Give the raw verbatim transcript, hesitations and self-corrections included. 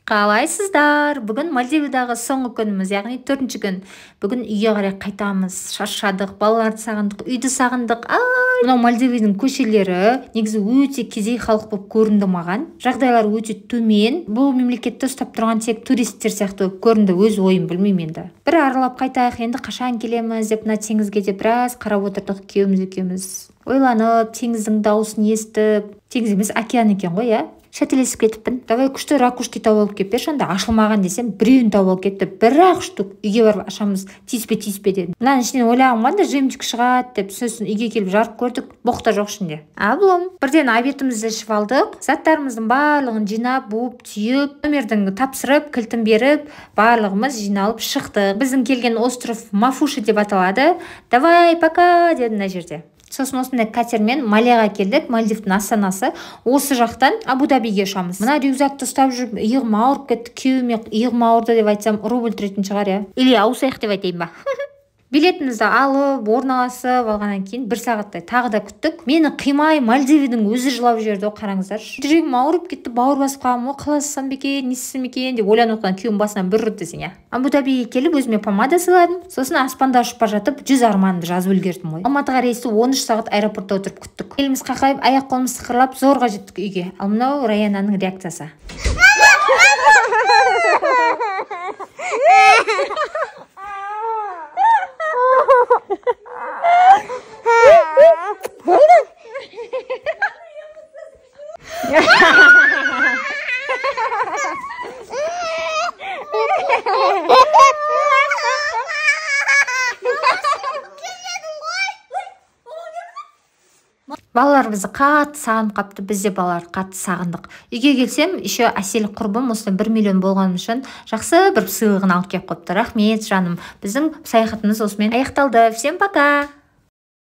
Қалайсыздар? Бүгін Мальдивадағы соңғы күніміз, яғни төртінші күн. Бүгін үйге қарай қайтамыз. Шаршадық, балаларды сағындық, үйді сағындық. Ай! Мынау Мальдиваның көшелері негізі өте кедей халық болып көрінді маған. Жағдайлар өте төмен. Бұл мемлекетті ұстап тұрған тек туристер сияқты болып көрінді, өз ойым білмеймін енді. Бір аралап қайтайық, енді қашан келеміз деп мына теңізге де біраз қарап отырдық күйеуіміз екеуміз. Ойланып, теңіздің дауысын естіп, теңіз емес океан екен ғой, иә? Шәтелесіп кетіппін. Давай күшті ракушки тауып алып келіп берші, анда ашылмаған десем, біреуін тауып алып кетті. Бір-ақ штук үйге барып ашамыз, тиіспе тиіспе дедім. Мынаның ішінен ойлағым қандай жемчуг шығады деп, сосын үйге келіп жарып көрдік, боқта жоқ ішінде. Аблом. Бірден обедімізді ішіп алдық. Заттарымыздың барлығын жинап, буып, түйіп, номердің тапсырып, кілтін беріп, барлығымыз жиналып шықтық. Біздің келген остров Мафуши деп аталады. Давай, пока деді мына жерде. Сосын осындай катермен Малияға келдік, Мальдивтің астанасы. Осы жақтан Абу-Дабиге ұшамыз. Мына рюкзакты ұстап жүріп, иығым ауырып кетті, күйеуіме иығым ауырды деп айтсам, рубль тұратын шығар, иә. Или ауысайық деп айтайын ба. Билетімізді алып, орналасып алғаннан кейін бір сағаттай тағы да күттік. Мені қимай Мальдиваның өзі жылап жіберді, қараңыздар. Жүрегім ауырып кетті, бауыр басып қалғам, қаласам бекен, несісім екен деп ойланып отқан күйеуім басынан бір ұрды десең, иә. Абу-Дабиге келіп өзіме помада сыйладым. Сосын аспанда ұшып бара жатып, жүз арманымды жазып үлгердім ғой. Алматыға рейсті он үш сағат аэропортта отырып күттік. Еліміз қақайып, аяқ қолымыз сықырлап, зорға жеттік үйге. Ал мынау Раянаның реакциясы. Балалар бізді қатты сағынып қапты, біз де балаларды қатты сағындық. Үйге келсем, еще әсел құрбым осыдан бір миллион болғаным үшін жақсы бір сыйлығын алып келіп қойыпты. Рахмет жаным. Біздің саяхатымыз осымен аяқталды. Всем пока!